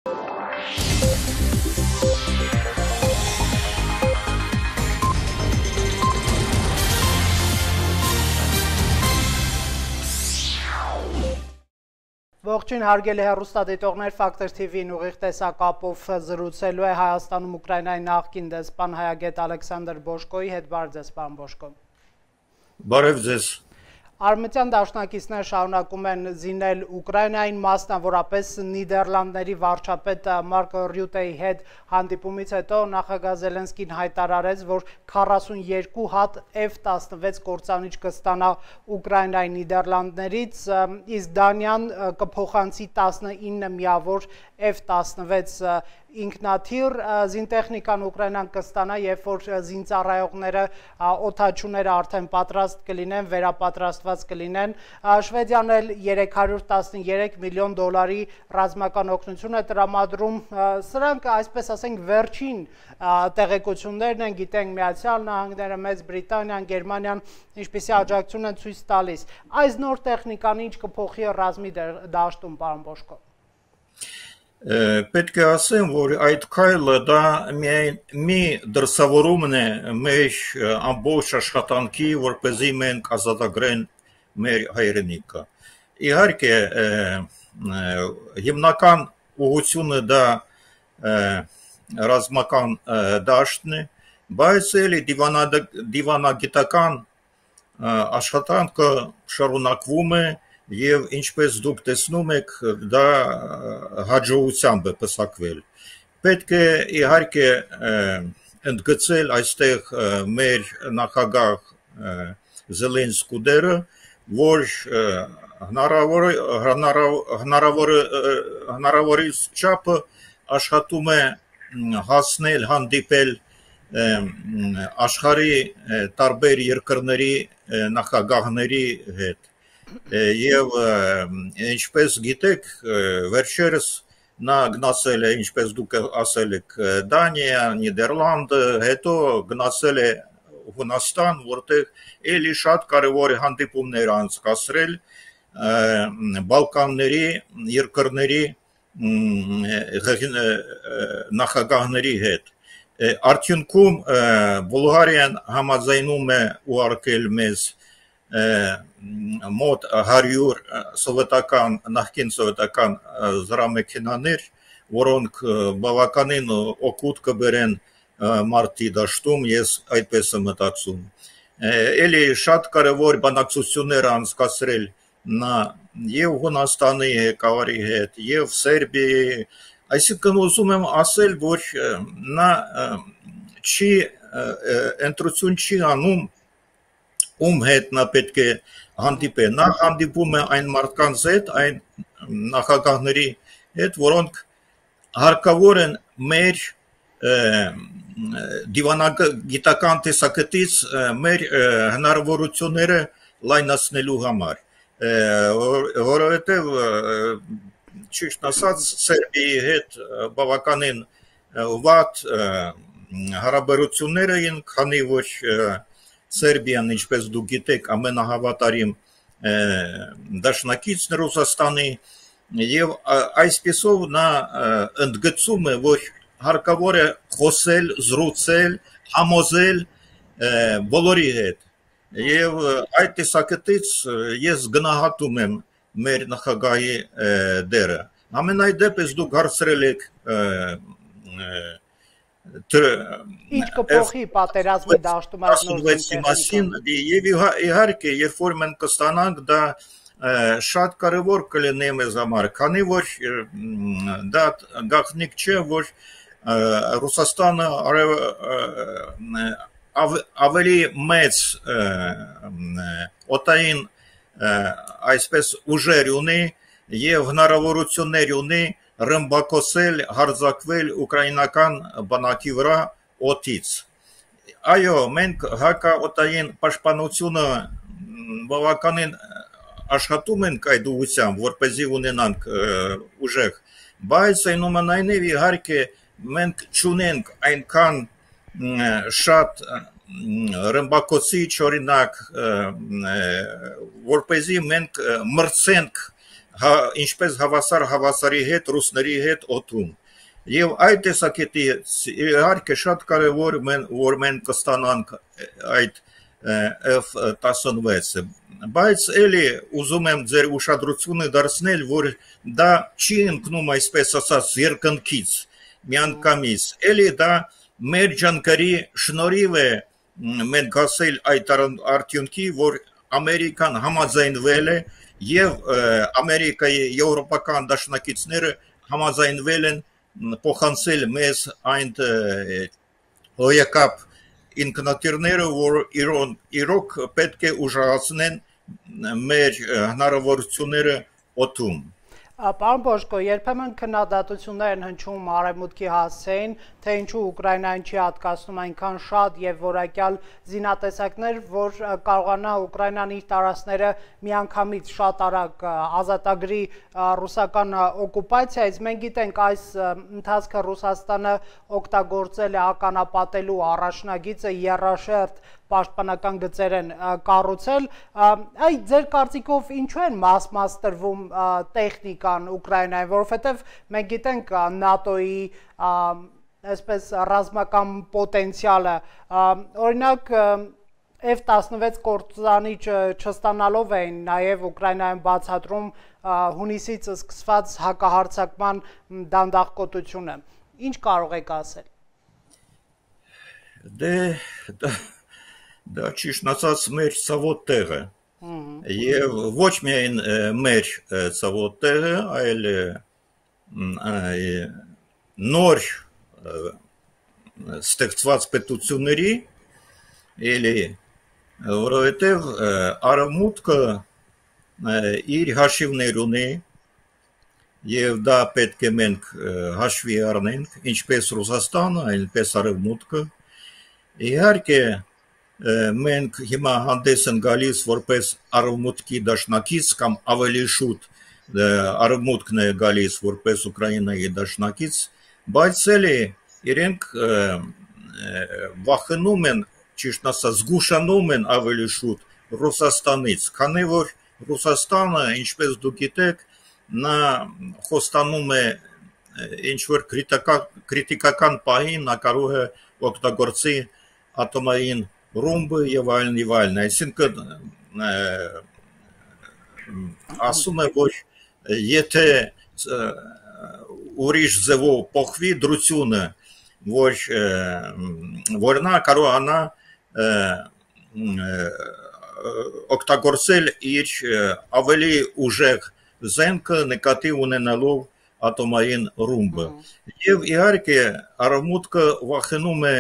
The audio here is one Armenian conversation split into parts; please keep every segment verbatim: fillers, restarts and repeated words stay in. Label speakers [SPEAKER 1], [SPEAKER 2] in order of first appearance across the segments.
[SPEAKER 1] Ողջույն հարգելի հեռուստադիտողներ, Ֆակտոր թիվին ուղիղ տեսակապով զրուցելու է Հայաստանում Ուկրաինայի նախկին դեսպան հայագետ Ալեքսանդր Բոշկոյի հետ։ Բարև ձեզ, պարոն Բոշկո։
[SPEAKER 2] Բարև ձեզ։
[SPEAKER 1] Արմենիան դաշնակիցները շարունակում են զինել Ուկրաինային, մասնավորապես Նիդերլանդների վարչապետ Մարկ Ռյուտեի հետ հանդիպումից հետո նախագահ Զելենսկին հայտարարեց, որ քառասունյոթ հատ F տասնվեց կործանիչ կստանա Ուկրաինայի Նիդերլանդներից, իսկ Դանիան կփոխանցի տասնինը միավոր F տասնվեց ինքնաթիռ զինտեխնիկան Ուկրաինան կստանա, երբ որ զինծառայողները, օդաչուները արդեն պատրաստ կլինեն, վերապատրաստված կլինեն։ Շվեդիան էլ երեք հարյուր տասներեք միլիոն դոլարի ռազմական օգնություն է տրամադրում։ Սրանք, այսպես ասենք, վերջին տեղեկություններն են, գիտենք Միացյալ Նահանգները, Մեծ Բրիտանիան, Գերմանիան ինչպիսի աջակցություն են ցույց տալիս։ Այս նոր տեխնիկան ինչ կփոխի ռազմի դաշտում, պարոն Բոշկո։
[SPEAKER 2] Պետք է ասեմ, որ այդ քայլը դա մի դրսևորումն է մեր ամբողջ աշխատանքի, որպեսզի մենք ազատագրենք մեր հայրենիքը։ Իհարկե, հիմնական ուղղությունը դա ռազմական դաշտն է, բայց էլի դիվանագիտական աշխատանքը շարունակվում է և ինչպես դուք տեսնում եք, դա հաջողությամբ է պսակվել։ Պետք է իհարկե ընդգծել այստեղ մեր նախագահ Զելենսկու դերը, որ հնարավորից չափը աշխատում է հասնել, հանդիպել աշխարհի տարբեր երկրների նախագահների հետ։ Եվ ինչպես գիտեք, վերջերս նա գնացել է, ինչպես դուք ասել եք, Դանիա, Նիդերլանդը, հետո գնացել է Հունաստան, որտեղ էլի շատ կարևոր հանդիպումներ անցկացրել Բալկանների երկրների նախագահների հետ։ Արդյունքում Բուլղարիան համաձայնում է ուղարկել մեզ մոտ հարյուր սովետական, նախկին սովետական զրահմեքենաներ, որոնք բավականին օգուտ կբերեն մարտի դաշտում, ես այդպես եմ մտածում։ Էլի շատ կարևոր բանակցություններ անցկացրել նա և Հունաստանի ղեկավարի հետ, և Սերբիայի, այսինքն ուզում եմ ասել, որ նա չի ընտրություն չի անում, ում հետ նա պետք է հանդիպե, նա հանդիպում է այն մարդկանց հետ, այն նախագահների հետ, որոնք հարկավոր են մեր դիվանագիտական տեսակետից մեր հնարավորությունները լայնացնելու համար, որովհետև ճիշտ ասած Սերբիայի հետ բավականին վատ հարաբերություններ էին, քանի որ Սերբիան, ինչպես դուք գիտեք, ամենահավատարիմ դաշնակիցն է Ռուսաստանի, և այսպիսով նա ընդգծում է, որ հարկավոր է խոսել, զրուցել, համոզել բոլորի հետ, և այդ տեսակետից ես գնահատում եմ մեր նախագահի դերը։ Ամենայդեպս դուք հարցրել եք
[SPEAKER 1] Ինչ կփոխի պատերազմի դաշտում այս նոր
[SPEAKER 2] զինտեխնիկան։ Եվ իհարկե, երբ որ մենք կստանանք, դա շատ կարևոր կլինի մեզ համար, քանի որ դա գաղտնիք չէ, որ Ռուսաստանը ավելի մեծ օդային այսպես ուժեր ունի և հնարավորություններ ունի ռմբակոծել, հարձակվել ուկրաինական բանակի վրա օդից։ Այո, մենք հակաօդային պաշտպանությունը բավականին աշխատում ենք այդ ուղղությամբ, որպեսզի ունենանք ուժեղ, բայց այնուամենայնիվ իհարկե մենք չունենք այնքան շատ ռմբակոծիչ, օրինակ, որպեսզի մենք մրցենք հա, ինչպես հավասար հավասարի հետ ռուսների հետ օդում։ Եվ այդ տեսակետի իհարկե շատ կարևոր մեն, որ մենք կստանանք այդ F տասնվեցը, բայց էլի ուզում եմ ձեր ուշադրությունը դարձնել, որ դա չի ընկնում այսպես ասած երկնքից, միանգամից, էլի դա մեր ջանքերի շնորհիվ է մենք հասել այդ արդյունքի, որ Ամերիկան համաձայնվել է եւ Ամերիկայի եվրոպական դաշնակիցները համաձայնվել են փոխանցել մեզ այն հոյակապ ինքնաթիռները, որ իրոք, իրոք պետք է ուժեղացնեն մեր հնարավորությունները օդում։
[SPEAKER 1] Պարոն Բոշկո, երբեմն քննադատություններ են հնչում Արևմուտքի հասցեին, թե ինչու Ուկրաինային չի հատկացնում այնքան շատ եւ որակյալ զինատեսակներ, որ կարողանա Ուկրաինան իր տարածքները միանգամից շատ արագ ազատագրի ռուսական օկուպացիայից։ Մենք գիտենք, այս ընթացքը Ռուսաստանը օգտագործել է ականապատելու առաջնագիծը եռաշերտ պաշտպանական գծեր են կառուցել, այ ձեր կարծիքով ինչու են մաս-մաս տրվում տեխնիկան Ուկրաինային, որովհետև մենք գիտենք ՆԱՏՕ-ի այսպես ռազմական պոտենցիալը, օրինակ F տասնվեց կործանիչ չստանալով էին նաև Ուկրաինայում բացատրում հունիսից սկսված հակահարձակման դանդաղկոտությունը, ինչ կարող եք ասել։
[SPEAKER 2] Դե Դա ճիշտ ասած մեր ցավոտ տեղը եւ ոչ միայն մեր ցավոտ տեղը, այլ նոր ստեղծված պետությունների, էլի, որովհետեւ Արևմուտքը իր հաշիվներ ունի եւ դա պետք է մենք հաշվի առնենք, ինչպես Ռուսաստանը, այնպես Արևմուտքը, իհարկե մենք հիմա հանդես են գալիս որպես Արևմուտքի դաշնակից կամ ավելի շուտ Արևմուտքն է գալիս որպես Ուկրաինայի դաշնակից, բայց էլի իրենք վախենում են, ճիշտ ասած, զգուշանում են ավելի շուտ Ռուսաստանից, քանի որ Ռուսաստանը, ինչպես դուք գիտեք, նա խոստանում է ինչ-որ քրիտիկական պահին նա կարող է օգտագործի ատոմային ռումբը եւ այլն եւ այլն, այսինքն ասում է, որ եթե ուրիշ ձևով փոխվի դրությունը, որ որ նա կարողանա օգտագործել իր ավելի ուժեղ զենքը նկատի ունենալով ատոմային ռումբը։ Եվ իհարկե Արևմուտքը վախենում է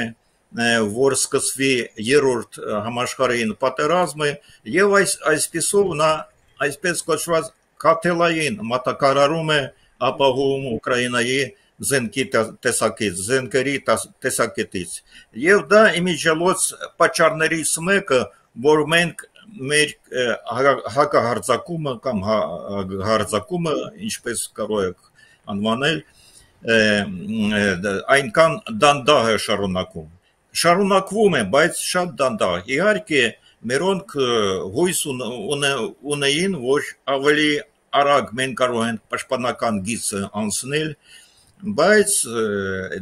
[SPEAKER 2] որ սկսվի երրորդ համաշխարհային պատերազմը եւ այս այսպիսով նա այսպես կոչված կաթելային մատակարարում է ապահովում Ուկրաինայի զենքի տեսակից, զենքերի տեսակետից եւ դա իմիջիալոց պատճառներից մեկը, որ մենք մեր հակահարձակումը կամ հարձակումը, ինչպես կարող եք անվանել, այնքան դանդաղ է շարունակում Շարունակվում է, բայց շատ դանդաղ։ Իհարկե, մերոնք հույս ունեին, որ ավելի արագ մենք կարող ենք պաշտպանական գիծը անցնել, բայց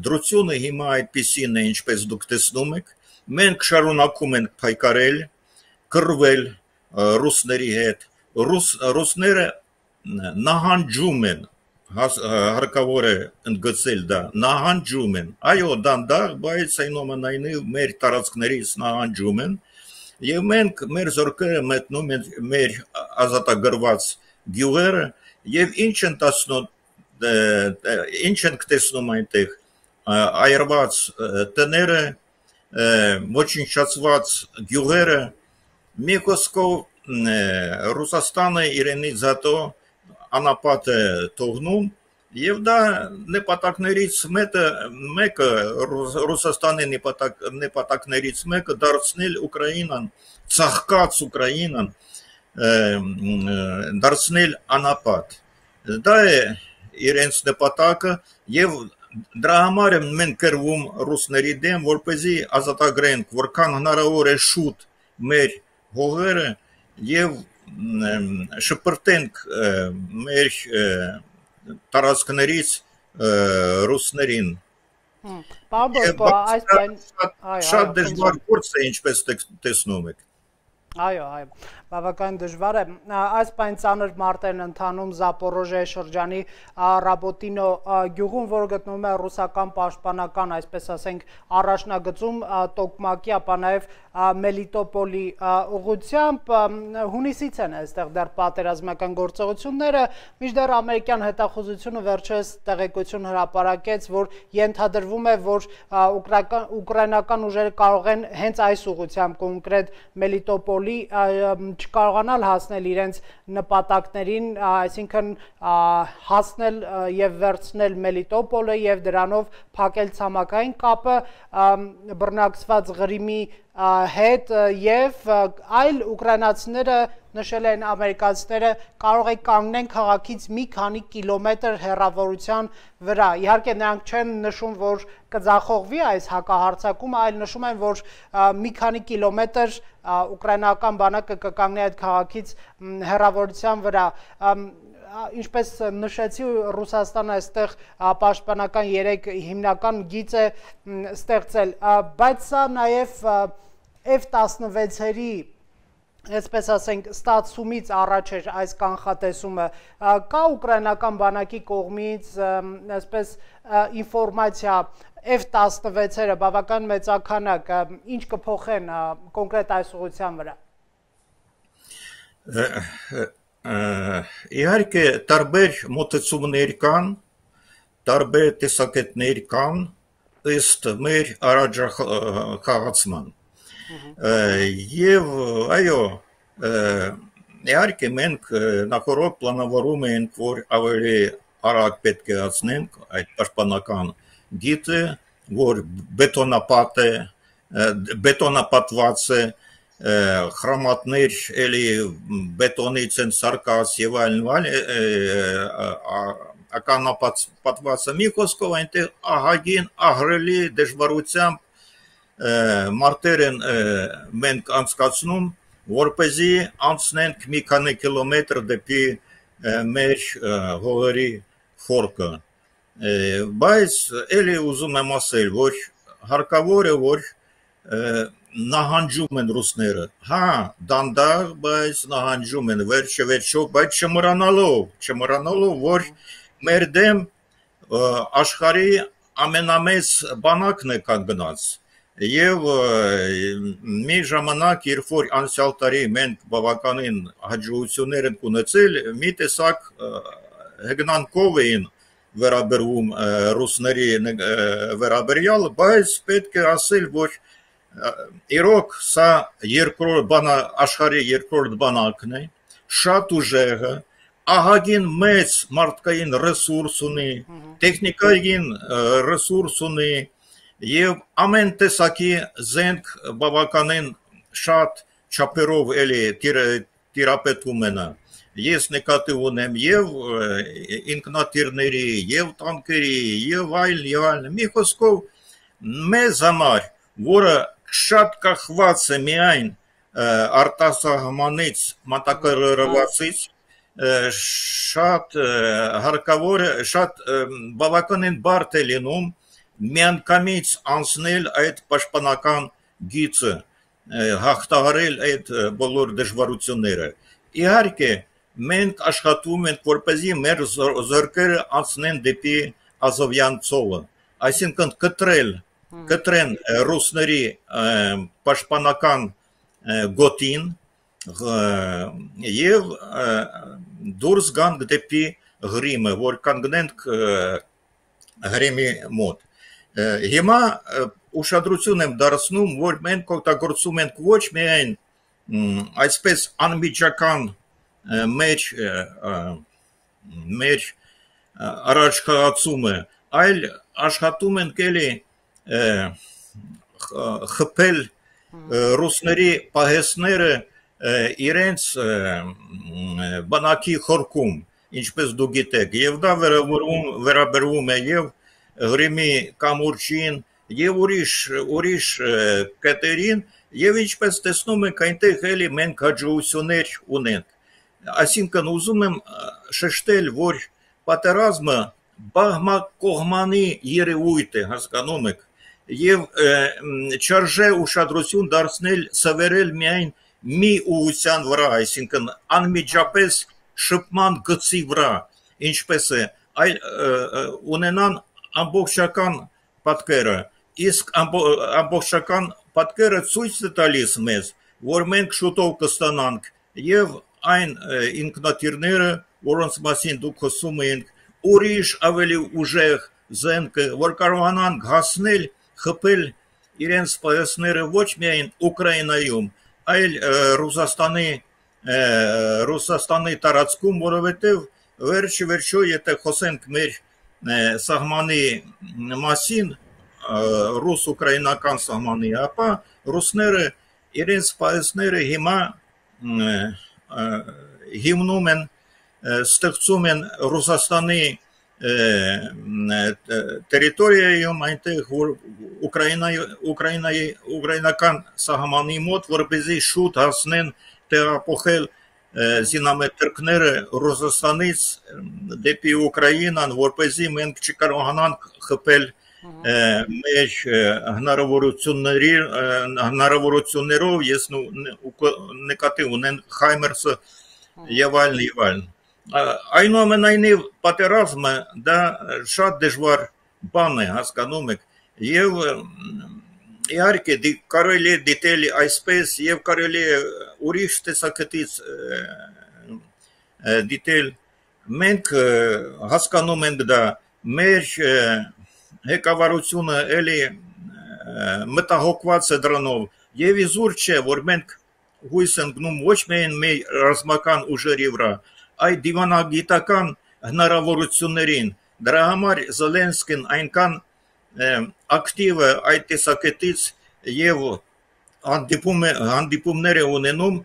[SPEAKER 2] դրությունը հիմա այդպիսին է, ինչպես դուք տեսնում եք, մենք շարունակում ենք փայկարել, կռվել ռուսների հետ, ռուսները նահանջում են, հարկավոր է ընդգծել դա, նահանջում են, այո դանդաղ, բայց այնուամենայնիվ մեր տարածքներից նահանջում են եւ մենք մեր զորքերը մտնում են մեր ազատագրված գյուղերը եւ ինչ են տեսնում ինչ են տեսնում այնտեղ այրված տները, ոչնչացված գյուղերը, մի խոսքով Ռուսաստանը իրենից հետո անապատ է թողնում եւ դա նպատակներից մեկը Ռուսաստանի նպատակներից մեկը դարձնել Ուկրաինան, ցաղկած Ուկրաինան, դարձնել անապատ։ Դա է իրենց նպատակը եւ դրա համար են մենք կրվում ռուսների դեմ, որպեսզի ազատագրենք որքան հնարավոր է շուտ մեր հողերը եւ շպրտենք մեր տարածքներից ռուսներին։
[SPEAKER 1] Պարոն Բոսկո, այս բան
[SPEAKER 2] շատ դժվար գործ է, ինչպես տեսնում եք։
[SPEAKER 1] Այո, այո, բավական դժվար է։ Այս պայն ծանր մարտերն ընթանում Զապորոժիայի շրջանի Ռաբոտինո գյուղում, որը գտնվում է ռուսական պաշտպանական, այսպես ասենք, առաջնագծում Տոկմակի, ապա նաև Մելիտոպոլի ուղղությամբ, հունիսից են այստեղ դեռ պատերազմական գործողությունները, մինչդեռ ամերիկյան հետախուզությունը վերջերս տեղեկություն հրապարակեց, որ ենթադրվում է, որ ուկրաինական ուժերը կարող են հենց այս ուղղությամբ կոնկրետ Մելիտոպոլի չկարողանալ հասնել իրենց նպատակներին, այսինքն հասնել և վերցնել Մելիտոպոլը և դրանով փակել ցամաքային կապը բռնակցված Ղրիմի հետ և այլ ուկրաինացիները նշել են ամերիկացիները կարող է կանգնեն քաղաքից մի քանի կիլոմետր հեռավորության վրա։ Իհարկե նրանք չեն նշում, որ կձախողվի այս հակահարձակումը, այլ նշում են, որ մի քանի կիլոմետր ուկրաինական բանակը կկանգնի այդ քաղաքից հեռավորության վրա։ Ինչպես նշեցի, Ռուսաստանը այստեղ պաշտպանական երեք հիմնական գիծ է ստեղծել, բայց սա նաև F տասնվեցերի այսպես ասենք ստացումից առաջ էր այս կանխատեսումը, կա ուկրաինական բանակի կողմից այսպես ինֆորմացիա F տասնվեցերը բավական մեծաքանակ, ինչ կփոխեն կոնկրետ այս ուղղության վրա։
[SPEAKER 2] Իհարկե տարբեր մոտեցումներ կան, տարբեր տեսակետներ կան ըստ մեր առաջխաղացման։ Եվ այո, իհարկե մենք նախորդ պլանավորում ենք, որ ավելի արագ պետք է անցնենք այդ պաշտպանական գիծը, որ բետոնապատ է, բետոնապատված է, խրամատներ էլի բետոնից են սարկած եւ այլն, ականապատված է, մի խոսքով այնտեղ ահագին ահռելի դժվարությամբ մարտեր են մենք անցկացնում, որպեսզի անցնենք մի քանի կիլոմետր դեպի մեր հողերի խորքը։ Բայց էլի ուզում եմ ասել, որ հարկավոր է, որ նահանջում են ռուսները, հա, դանդաղ, բայց նահանջում են վերջը վերջով, բայց չմոռանալով, չմոռանալով, որ մեր դեմ աշխարհի ամենամեծ բանակն է կանգնած։ Եվ մի ժամանակ, երբ որ անցյալ տարի մենք բավականին հաջողություններ ենք ունեցել, մի տեսակ հեգնանքով էին վերաբերվում ռուսների վերաբերյալ, բայց պետք է ասել, որ իրոք սա աշխարհի երկրորդ բանակն է, շատ ուժեղ է, ահագին մեծ մարդկային ռեսուրս ունի, տեխնիկային ռեսուրս ունի, և ամեն տեսակի զենք բավականին շատ չափերով էլի տիրապետում են։ Ես նկատի ունեմ և ինքնաթիռների, և տանկերի, և այլ, և այլ, մի խոսքով մեզ համար, որը շատ կախված է միայն արտասահմանից, մատակարարվածից, շատ հարկավոր է, շատ բավականին բարդ է լինում միանգամից անցնել այդ պաշտպանական գիծը, հաղթահարել այդ բոլոր դժվարությունները։ Իհարկե, մենք աշխատում ենք, որպեսզի մեր զորքերը անցնեն դեպի Ազովյան ծովը, այսինքն կտրել, կտրեն ռուսների պաշտպանական գոտին և դուրս գանք դեպի Ղրիմը, որ կանգնենք Ղրիմի մոտ։ Հիմա ուշադրություն եմ դարձնում, որ մենք օգտագործում ենք ոչ միայն այսպես անմիջական մեր մեր առաջխաղացումը, այլ աշխատում ենք էլի խփել ռուսների պահեստները իրենց բանակի խորքում, ինչպես դուք գիտեք, եւ դա վերաբերվում է եւ Ղրիմի կամուրջին եւ ուրիշ ուրիշ կետերին, եւ ինչպես տեսնում եք, այնտեղ էլի մենք հաջողություններ ունենք։ այսինքն ուզում եմ շեշտել, որ պատերազմը բահմակողմանի երևույթ է, հասկանում եք, եւ չարժե ուշադրություն դարձնել սվերել միայն մի ուղղության վրա, այսինքն անմիջապես շփման գծի վրա, ինչպես է, այլ ունենան ամբողջական պատկերը, իսկ ամբողջական պատկերը ցույց է տալիս մեզ, որ մենք շուտով կստանանք եւ այն ինքնաթիռները, որոնց մասին դուք խոսում եք, ուրիշ ավելի ուժեղ զենքը, որ կարողանան հասնել, խփել իրենց պայուսները ոչ միայն Ուկրաինայում, այլ Ռուսաստանի Ռուսաստանի տարածքում, որովհետև վերջի վերջո, եթե խոսենք մեր սահմանի մասին, ռուս-ուկրաինական սահմանի, ապա ռուսները իրենց պայուսները հիմա հիմնում են, ստեղծում են Ռուսաստանի տերիտորիայում, այնտեղ, որ ուկրաինական սահմանի մոտ, որպեսզի շուտ հասնեն տեղափոխել զինամետրիկները Ռուսաստանից դեպի Ուկրաինան, որպեսզի մենք չկարողանանք խփել մեր հնարավորություններով, ես նկատի ունեն Խայմերսը եւ այլն եւ այլն։ Այնուամենայնիվ պատերազմը դա շատ դժվար բան է, հասկանում եք, եւ իհարկե կարելի է դիտել այսպես եւ կարելի է ուրիշ տեսակետից դիտել, մենք հասկանում ենք դա, մեր հեկավարությունը էլի մտահոգված է դրանով եւ իզուր չէ, որ մենք հույս ենք գնում ոչ միայն մեր ռազմական ուժերի վրա, այդ դիվանագիտական հնարավորություններին, դրա համար Զելենսկին այնքան ակտիվ է այդ տեսակետից եւ հանդիպումներ է ունենում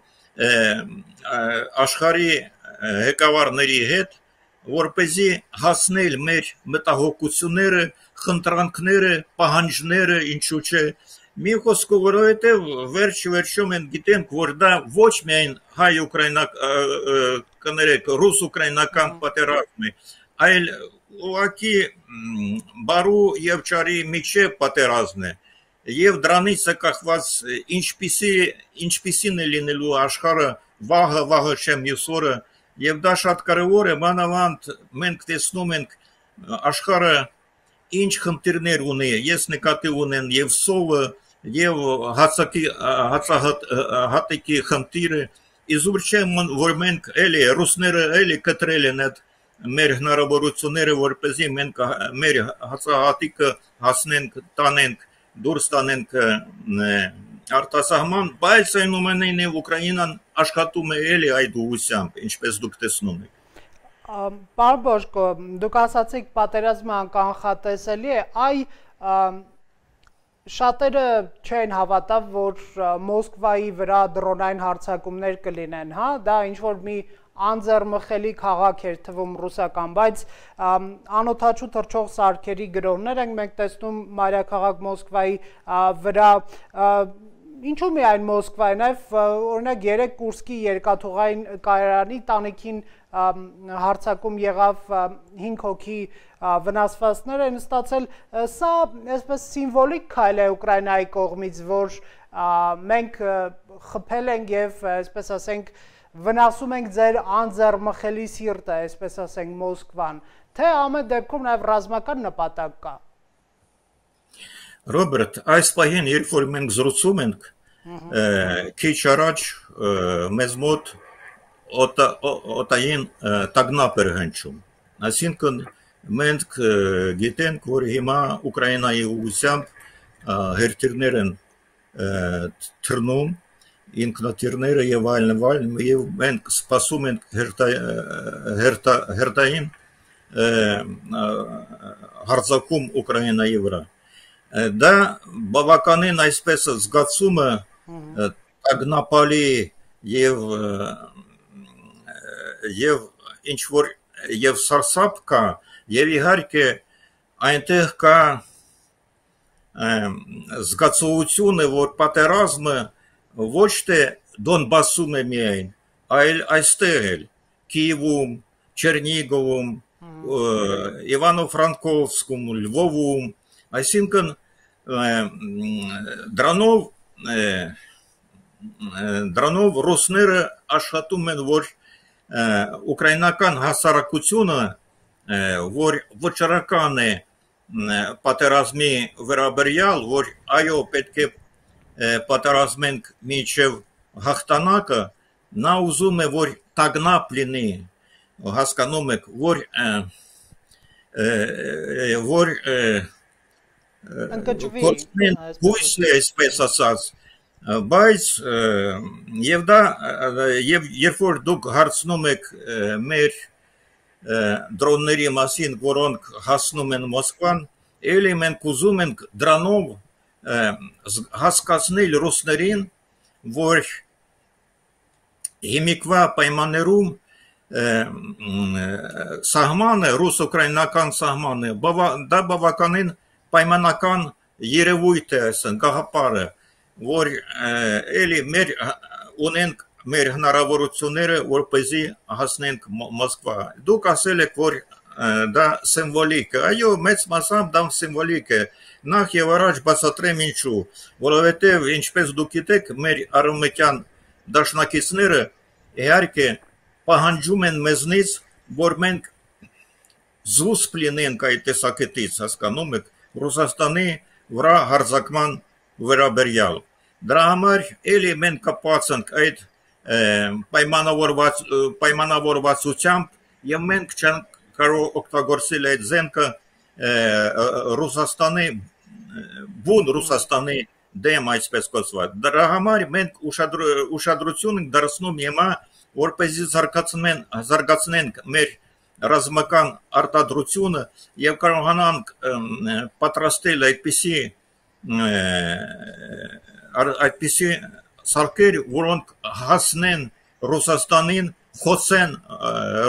[SPEAKER 2] աշխարհի հեկավարների հետ, որպեսզի հասնել մեր մտահոգությունները, խնդրանքները, պահանջները, ինչու՞ չէ, մի խոսքով, որովհետև վերջ-վերջում են գիտենք, որ դա ոչ միայն հայ-ուկրաինական, ռուս-ուկրաինական պատերազմ է, այլ ուղղակի բարու եւ ճարի միջև պատերազմ է, եւ դրանից է կախված ինչպիսին է լինելու աշխարհը վաղը, վաղը չեմ մյուս օրը, եւ դա շատ կարեւոր է, մանավանդ մենք տեսնում ենք աշխարհը ինչ խնդիրներ ունի, ես նկատի ունեմ եւ սովը, եւ հացահատիկի խնդիրը, իզուր չէ, որ մենք էլի, ռուսները էլի կտրել են այդ մեր հնարավորությունները, որպեսզի մենք մեր հացահատիկը հասնենք, տանենք, դուրս տանենք արտասահման, բայց այնուամենայնիվ Ուկրաինան աշխատում է էլի այդ ուղղությամբ, ինչպես դուք տեսնում եք։
[SPEAKER 1] Պարոն Բոշկո, դուք ասացիք պատերազմը անկանխատեսելի է, այ շատերը չեն հավատա, որ Մոսկվայի վրա դրոնային հարձակումներ կլինեն, հա, դա ինչ-որ մի անձեռմխելի քաղաք էր թվում ռուսական, բայց անօթաչու թռչող սարքերի գրոհներ ենք մենք տեսնում մայրաքաղաք Մոսկվայի վրա, ինչու միայն Մոսկվայի, նաև օրինակ երեք Կուրսկի երկաթուղային կայարանի տանիքին հարձակում եղավ հինգ հոգի վնասվածքներ են ստացել, սա այսպես սիմվոլիկ քայլ է Ուկրաինայի կողմից, որ մենք խփել ենք եւ այսպես ասենք վնասում ենք ձեր անձեռմխելի սիրտը, այսպես ասենք Մոսկվան, թե ամեն դեպքում նաև ռազմական նպատակ կա։
[SPEAKER 2] Ռոբերտ, այս պահին, երբ որ մենք զրուցում ենք, քիչ առաջ մեզ մոտ օտային տագնապ էր հնչում, այսինքն մենք գիտենք, որ հիմա Ուկրաինայի ուղղությամբ հերթիրներ են թռնում, ինքնաթիռները եւ այլն եւ այլն, եւ մենք սպասում ենք հերթային հարձակում Ուկրաինայի վրա։ Դա բավականին այսպես զգացումը տագնապալի եւ եւ ինչ որ եւ սարսափ կա, եւ իհարկե այնտեղ կա զգացողությունը, որ պատերազմը ոչ թե Դոնբասում է միայն, այլ այստեղ էլ Կիևում, Չերնիգովում, Իվանո-Ֆրանկովսկում, Լվովում, այսինքն դրանով դրանով ռուսները աշխատում են, որ ուկրաինական հասարակությունը, որ վճռական է պատերազմի վերաբերյալ, որ այո պետք է պատերազմենք մինչև հաղթանակը, նա ուզում է, որ տագնապ լինի, հասկանում եք, որ որ հույսն է, այսպես ասած, բայց և դա, և երբ որ դուք հարցնում եք մեր դրոնների մասին, որոնք հասնում են Մոսկվան, էլի մենք ուզում ենք դրանով հասկացնել ռուսներին, որ հիմիկվա պայմաններում սահմանը, ռուս-ուկրաինական սահմանը, դա բավականին պայմանական երևույթ է, այսն, գաղափարը, որ էլի մեր ունենք մեր հնարավորությունները, որպեսզի հասնենք Մոսկվա։ Դուք ասել եք, որ դա սիմվոլիկ է, այո, մեծ մասամբ դա սիմվոլիկ է, նախ և առաջ բացատրեմ ինչու, որովհետև ինչպես դուք գիտեք, մեր արևմտյան դաշնակիցները իհարկե պահանջում են մեզնից, որ մենք զուսպ լինենք այդ տեսակետից, հասկանում եք, Ռուսաստանի վրա հարձակման վերաբերյալ։ Դրա համար էլի մենք կապված ենք այդ պայմանավորվածությամբ և մենք չենք կարող օգտագործել այդ զենքը Ռուսաստանի, բուն Ռուսաստանի դեմ, այսպես կոչված։ Դրա համար մենք ուշադրություն ենք դարձնում հիմա, որպեսզի զարգացնենք մեր ռազմական արտադրությունը և կարողանանք պատրաստել այդպիսի այդպիսի սարքեր, որոնք հասնեն Ռուսաստանին, խոցեն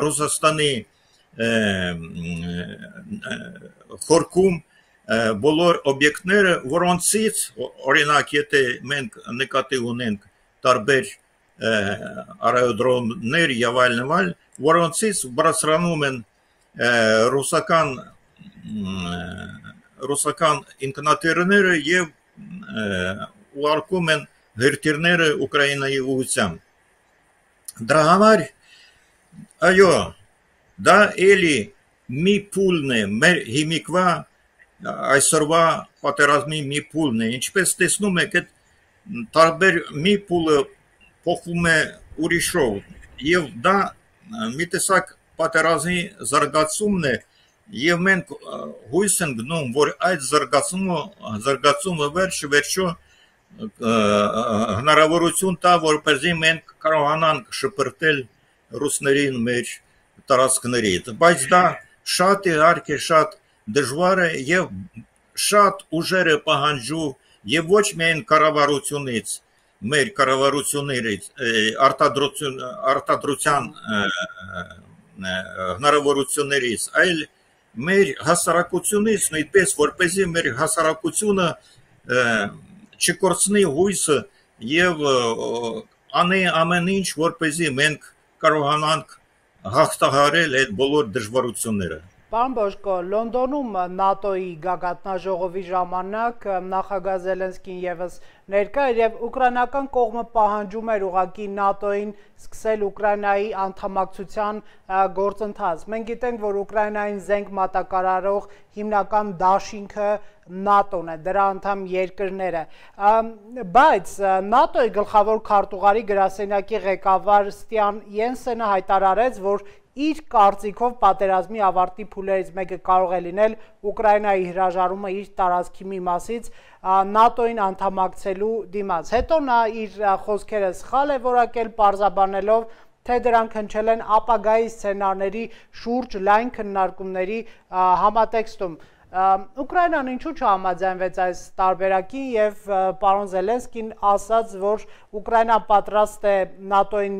[SPEAKER 2] Ռուսաստանի խորքում բոլոր օբյեկտները, որոնցից, օրինակ, եթե մենք նկատի ունենք տարբեր արայոդրոմներ և այլն, որոնցից բարձրանում են ռուսական ռուսական ինքնաթիռները և ուղարկում են հրթիռները Ուկրաինայի ուղղությամբ։ Դրա համար, այո, դա էլի մի փուլն է, մեր հիմիկվա այսօրվա պատերազմի մի փուլն է, ինչպես տեսնում եք, այդ տարբեր մի փուլը փոխվում է ուրիշով, և դա մի տեսակ պատերազմի զարգացումն է, և մենք հույս ենք գնում, որ այդ զարգացումը վերջ վերջո հնարավորություն տա, որպեսզի մենք կարողանանք շպրտել ռուսներին մեր տարածքներից, բայց դա շատ իհարկե շատ դժվար է և շատ ուժեր է պահանջում և ոչ միայն կառավարությունից, մեր կառավարություններից, արտադրության հնարավորություններից, այլ մեր հասարակությունից, նույնպես որպեսզի մեր հասարակությունը չկորցնի հույսը և անի ամեն ինչ, որպեսզի մենք կարողանանք հաղթահարել այդ բոլոր դժվարությունները։
[SPEAKER 1] Պարոն Բոժկո, Լոնդոնում ՆԱՏՕ-ի գագաթնաժողովի ժամանակ նախագահ Զելենսկին ևս ներկա էր և ուկրաինական կողմը պահանջում էր ուղղակի ՆԱՏՕ-ին սկսել Ուկրաինայի անդամակցության գործընթաց։ Մենք գիտենք, որ Ուկրաինային զենք մատակարարող հիմնական դաշինքը ՆԱՏՕ-ն է, դրա անդամ երկրները, բայց ՆԱՏՕ-ի գլխավոր քարտուղարի գրասենյակի ղեկավար Ստյան Յենսենը հայտարարեց, որ իր կարծիքով պատերազմի ավարտի փուլերից մեկը կարող է լինել Ուկրաինայի հրաժարումը իր տարածքի մի մասից ՆԱՏՕ-ին անդամակցելու դիմաց։ Հետո նա իր խոսքերը սխալ է որակել, պարզաբանելով, թե դրանք հնչել են ապագայի սցենարների շուրջ լայն քննարկումների համատեքստում։ Ուկրաինան ինչու չհամաձայնվեց այս տարբերակին և պարոն Զելենսկին ասաց, որ Ուկրաինան պատրաստ է ՆԱՏՕ-ին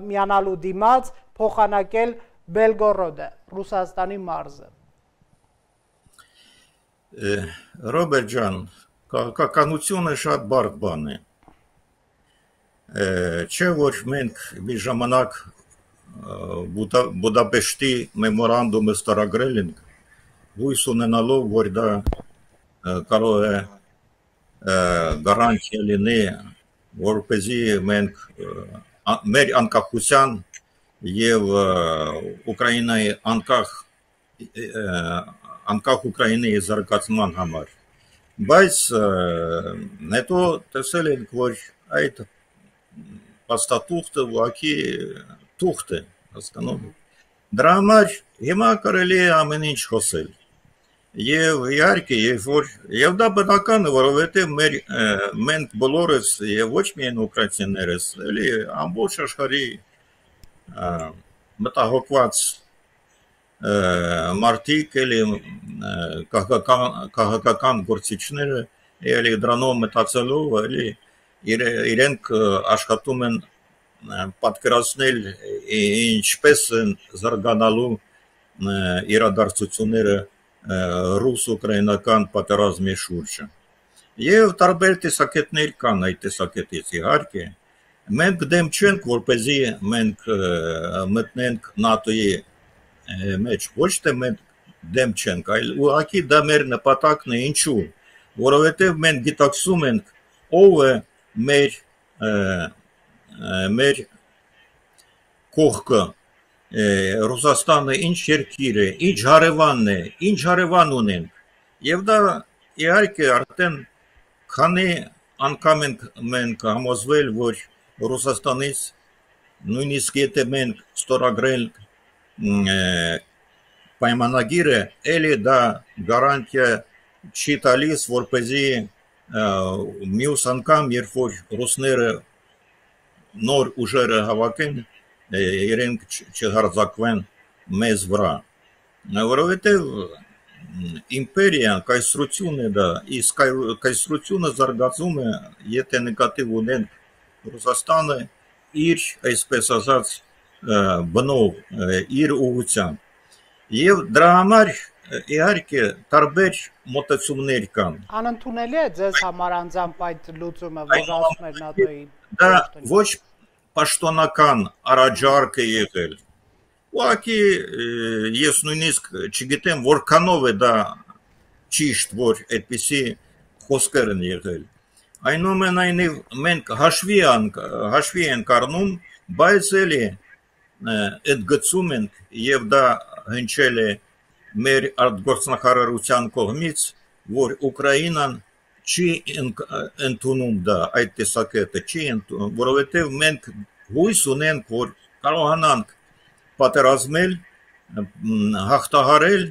[SPEAKER 1] միանալու դիմաց փոխանակել Բելգորոդը, Ռուսաստանի մարզը։
[SPEAKER 2] Ռոբերտ ջան, քաղաքականությունը շատ բարդ բան է։ Չէ որ մենք մի ժամանակ Բուդապեշտի մեմորանդումը ստորագրել ենք, հույս ունենալով, որ դա կարող է գարանտիա լինի, որպեսզի մենք մեր անկախության եւ Ուկրաինայի անկախ անկախ Ուկրաինայի զարգացման համար, բայց հետո տեսել ենք, որ այդ փաստաթուղթը ուղղակի թուղթ է, հասկանում եք։ Դրա համար հիմա կարելի է ամեն ինչ խոսել։ Եվ իհարկե, երբ որ եւ դա բնական է, որովհետեւ մեր մենք բոլորս եւ ոչ միայն ուկրաինացիներս, էլի ամբողջ աշխարհի մտահոգված մարդիկ, էլի քաղաքական գործիչները, էլի դրանով մտածելով, էլի իրենք աշխատում են պատկերացնել ինչպես են զարգանալու իրադարձությունները ռուս-ուկրաինական պատերազմի շուրջը։ Եվ տարբեր տեսակետներ կան այդ տեսակետից, իհարկե։ Մենք դեմ չենք, որպեսզի մենք մտնենք ՆԱՏՕ-ի մեջ, ոչ թե մենք դեմ չենք, այլ ուղղակի դա մեր նպատակն է, ինչու, որովհետև մենք գիտակցում ենք ով է մեր մեր կողքը, Ռուսաստանը ինչ երկիր է, ինչ հարևանն է, ինչ հարևան ունենք, եւ դա իհարկե արդեն քանի անգամ ենք մենք համոզվել, որ Ռուսաստանից նույնիսկ եթե մենք ստորագրել պայմանագիրը, էլի դա գարանտիա չի տալիս, որպեսզի մյուս անգամ, երբ որ ռուսները նոր ուժերը հավաքեն, իրենք չհարձակվեն մեզ վրա, որովհետև իմպերիան, կայսրություն է դա, իսկ կայսրությունը զարգացում է, եթե նկատի ունենք Ռուսաստանը իր, այսպես ասած, բնով, իր ուղղությամբ, եւ դրա համար իհարկե տարբեր մոտեցումներ կան։
[SPEAKER 1] Անընդունելի է ձեզ համար անձամբ այդ լուծումը, որ ասում էր ՆԱՏՕ-ի։
[SPEAKER 2] Դա ոչ պաշտոնական առաջարկ է եղել։ Ուղղակի ես նույնիսկ չգիտեմ որքանով է դա ճիշտ, որ այդպիսի խոսքեր են եղել։ Այնուամենայնիվ մենք հաշվի հաշվի ենք առնում, բայց էլի այդ գծում ենք եւ դա հնչել է մեր արտգործնախարարության կողմից, որ Ուկրաինան չի ընդունում դա, այդ տեսակետը չի ընդունում, որովհետև մենք հույս ունենք, որ կարողանանք պատերազմել, հաղթահարել,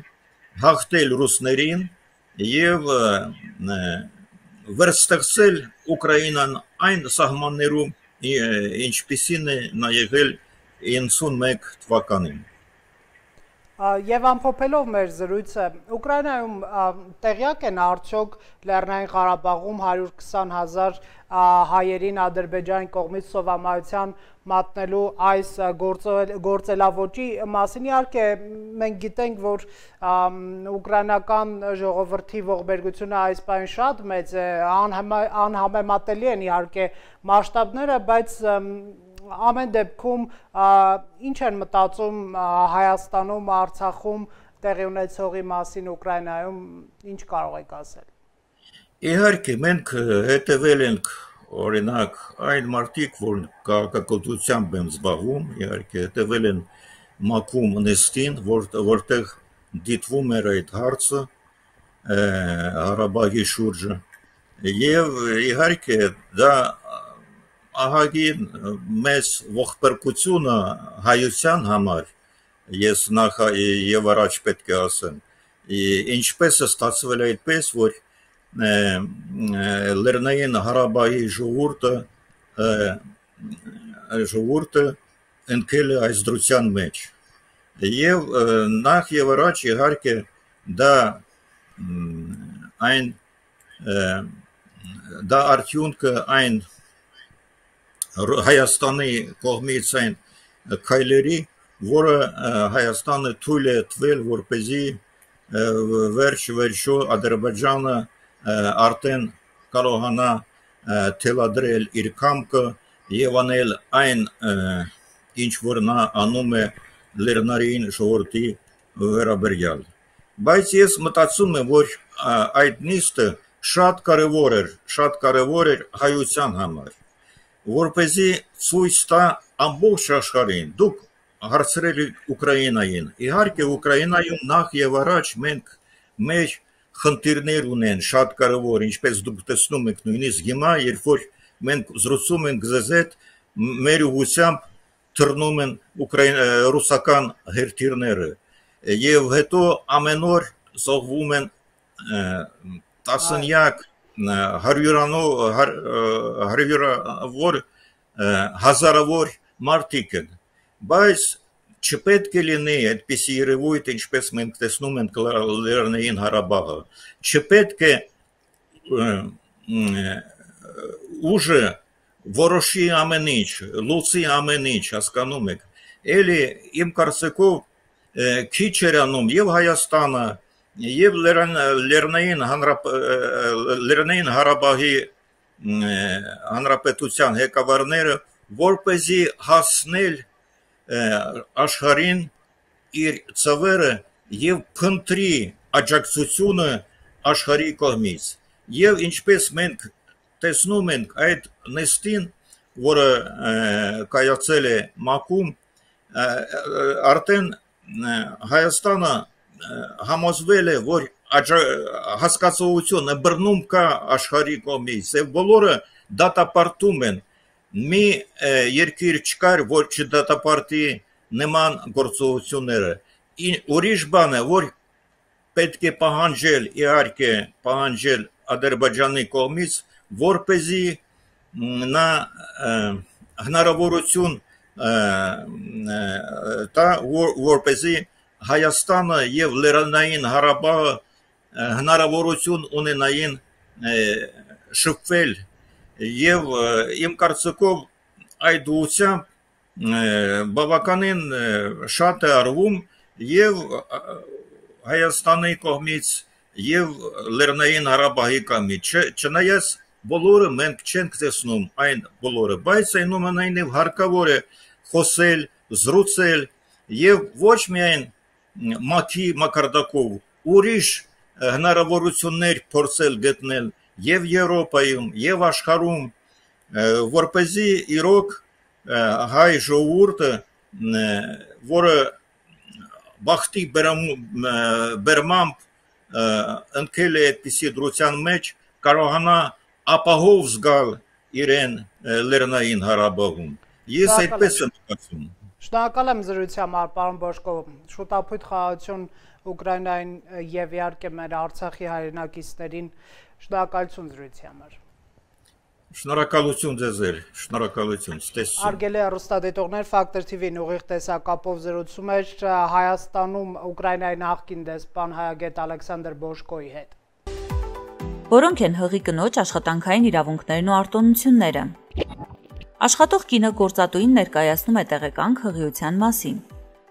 [SPEAKER 2] հաղթել ռուսներին եւ վերստեղծել Ուկրաինան այն սահմաններում, ինչպիսին է նա եղել իննսունմեկ թվականին։
[SPEAKER 1] Եվ ամփոփելով մեր զրույցը, Ուկրաինայում տեղյակ են արդյոք Լեռնային Ղարաբաղում հարյուր քսան հազար հայերին Ադրբեջանի կողմից սովամայության մատնելու այս գործելավոճի մասին, իհարկե մենք գիտենք, որ ուկրաինական ժողովրդի ողբերգությունը այս պահին շատ մեծ է, անհամեմատելի են իհարկե մասշտաբները, բայց ամեն դեպքում ինչ են մտածում Հայաստանում, Արցախում տեղի ունեցողի մասին Ուկրաինայում, ինչ կարող եք ասել։
[SPEAKER 2] Իհարկե մենք հետևել ենք օրինակ այն մարդիկ, որ քաղաքականությամբ են զբաղվում, իհարկե հետևել են ՄԱԿ-ում նիստին, որտեղ դիտվում էր այդ հարցը Ղարաբաղի շուրջը, եւ իհարկե դա ահագին մեծ ողբերգությունը հայության համար, ես նախ եւ առաջ պետք է ասեմ, ինչպես է ստացվել այդպես, որ Լեռնային Ղարաբաղի ժողովուրդը ժողովուրդը ընկել է այս դրության մեջ, եւ նախ եւ առաջ իհարկե դա այն դա արդյունքը այն Հայաստանի կողմից այն քայլերի, որը Հայաստանը թույլ է տվել, որպեսզի վերջ-վերջո Ադրբեջանը արդեն կարողանա թելադրել իր կամքը եւ անել այն ինչ որ նա անում է լեռնային ժողովրդի վերաբերյալ բայց ես մտածում եմ որ այդ նիստը շատ կարևոր էր շատ կարևոր էր հայության համար որպեսզի ցույց տա ամբողջ աշխարհին դուք հարցրել եք Ուկրաինային իհարկե Ուկրաինայում նախ եւ առաջ մենք մեր խնդիրներ ունեն շատ կարևոր ինչպես դուք տեսնում եք նույնիսկ հիմա երբ որ մենք զրուցում ենք ձեզ հետ մեր ուղղությամբ թռնում են ուկրաին ռուսական հերթիրները եւ հետո ամեն օր զոհվում են տասնյակ հարյուրանով հարյուրավոր հազարավոր մարդիկ են բայց չպետք է լինի այդպիսի երևույթ ինչպես մենք տեսնում ենք Լեռնային Ղարաբաղը չպետք է ուժը որոշի ամեն ինչ լուծի ամեն ինչ հասկանում եք էլի իմ կարծիքով քիչ էր անում եւ Հայաստանը եւ Լեռնային Լեռնային Ղարաբաղի հանրապետության ղեկավարները որպեսզի հասնել աշխարհին իր ծավերը եւ փնտրի աջակցությունը աշխարհի կողմից եւ ինչպես մենք տեսնում ենք այդ նստին որը կայացել է ՄԱԿ-ում արդեն Հայաստանը համոզվել է որ հասկացողությունը բռնում կա աշխարհի կողմից եւ բոլորը դատապարտում են մի երկիր չկար որ չդատապարտի նման գործողությունները ուրիշ բան է որ պետք է պահանջել իհարկե պահանջել Ադրբեջանի կողմից որպեսզի նա հնարավորություն տա որպեսզի Հայաստանը եւ Լեռնային Ղարաբաղը հնարավորություն ունենային շփվել եւ իմ կարծիքով այդ ուղղությամբ բավականին շատ է արվում եւ Հայաստանի կողմից եւ Լեռնային Ղարաբաղի կողմից չնայած բոլորը մենք չենք տեսնում այն բոլորը բայց այնուամենայնիվ հարկավոր է խոսել զրուցել եւ ոչ միայն մակի մակարդակով ուրիշ հնարավորություններ փորձել գտնել եւ Եվրոպայում եւ աշխարհում որպեսզի իրոք հայ ժողովուրդը որը բախտի բերմամբ ընկել է այդպիսի դրության մեջ կարողանա ապահով զգալ իրեն Լեռնային Ղարաբաղում ես այդպես եմ կարծում
[SPEAKER 1] Շնորհակալ եմ զրույցի համար, պարոն Բոշկով, շուտապույտ խաղաղություն Ուկրաինային եւ իհարկե մեր Արցախի հայրենակիցներին, շնորհակալություն զրույցի համար։
[SPEAKER 2] Շնորհակալություն ձեզ, շնորհակալություն, ստեսություն։
[SPEAKER 1] Հարգելի հեռուստադիտողներ, Factor T V-ն ուղիղ տեսակապով զրուցում էր Հայաստանում Ուկրաինայի նախկին դեսպան հայագետ Ալեքսանդր Բոշկոյի հետ։
[SPEAKER 3] Որոնք են հղի կնոջ աշխատանքային իրավունքներն ու արտոնությունները։ Աշխատող կինը գործատուին ներկայացնում է տեղեկանք հղիության մասին։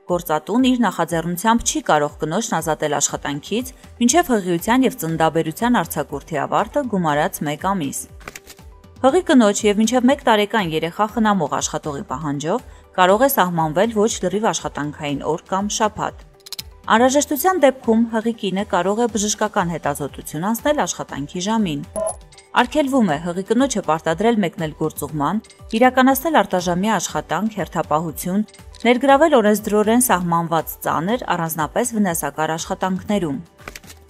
[SPEAKER 3] Գործատուն իր նախաձեռնությամբ չի կարող կնոջն ազատել աշխատանքից, մինչև հղիության եւ ծննդաբերության արձակուրդի ավարտը գումարած մեկ ամիս։ Հղի կնոջ եւ մինչև մեկ տարեկան երեխա խնամող աշխատողի պահանջով կարող է սահմանվել ոչ լրիվ աշխատանքային օր կամ շաբաթ։ Անհրաժեշտության դեպքում հղի կինը կարող է բժշկական հետազոտություն անցնել աշխատանքի ժամին։ Արգելվում է հղի կնոջը պարտադրել մեկնել գործուղման, իրականացնել արտաժամյա աշխատանք, հերթապահություն, ներգրավել օրենսդրորեն սահմանված ծանր, առանձնապես վնասակար աշխատանքներում։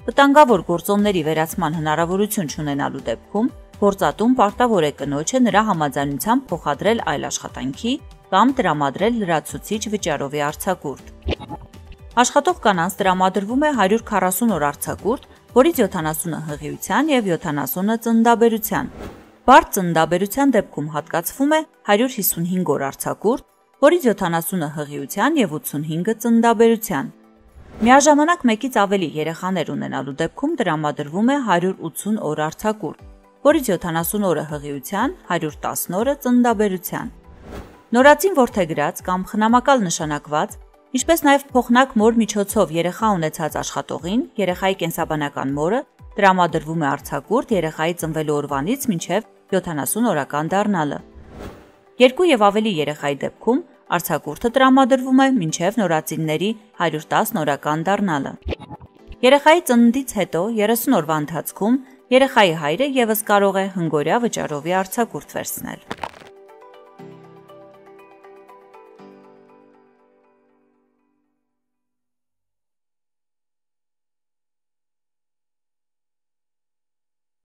[SPEAKER 3] Վտանգավոր գործոնների վերացման հնարավորություն չունենալու դեպքում գործատուն պարտավոր է կնոջը նրա համաձայնությամբ փոխադրել այլ աշխատանքի կամ տրամադրել լրացուցիչ վճարովի արձակուրդ։ Աշխատող կանանց տրամադրվում է հարյուր քառասուն օր արձակուրդ, որից յոթանասունը հղիության եւ յոթանասունը ծննդաբերության։ Բարդ ծննդաբերության դեպքում հատկացվում է հարյուր հիսունհինգ օր արձակուրդ, որից յոթանասունը հղիության եւ ութսունհինգը ծննդաբերության։ Միաժամանակ մեկից ավելի երեխաներ ունենալու դեպքում տրամադրվում է հարյուր ութսուն օր արձակուրդ, որից յոթանասուն օրը հղիության, հարյուր տասն օրը ծննդաբերության։ Նորածին որդեգրած կամ խնամակալ նշանակված Ինչպես նաև փոխնակ մոր միջոցով երեխա ունեցած աշխատողին, երեխայի կենսաբանական մորը տրամադրվում է արձակուրդ երեխայի ծնվելու օրվանից մինչև յոթանասուն օրական դառնալը։ Երկու եւ ավելի երեխայի դեպքում արձակուրդը տրամադրվում է մինչև նորածինների հարյուր տասը օրական դառնալը։ Երեխայի ծննդից հետո երեսուն օրվա ընթացքում երեխայի հայրը եւս կարող է հնգօրյա վճարովի արձակուրդ վերցնել։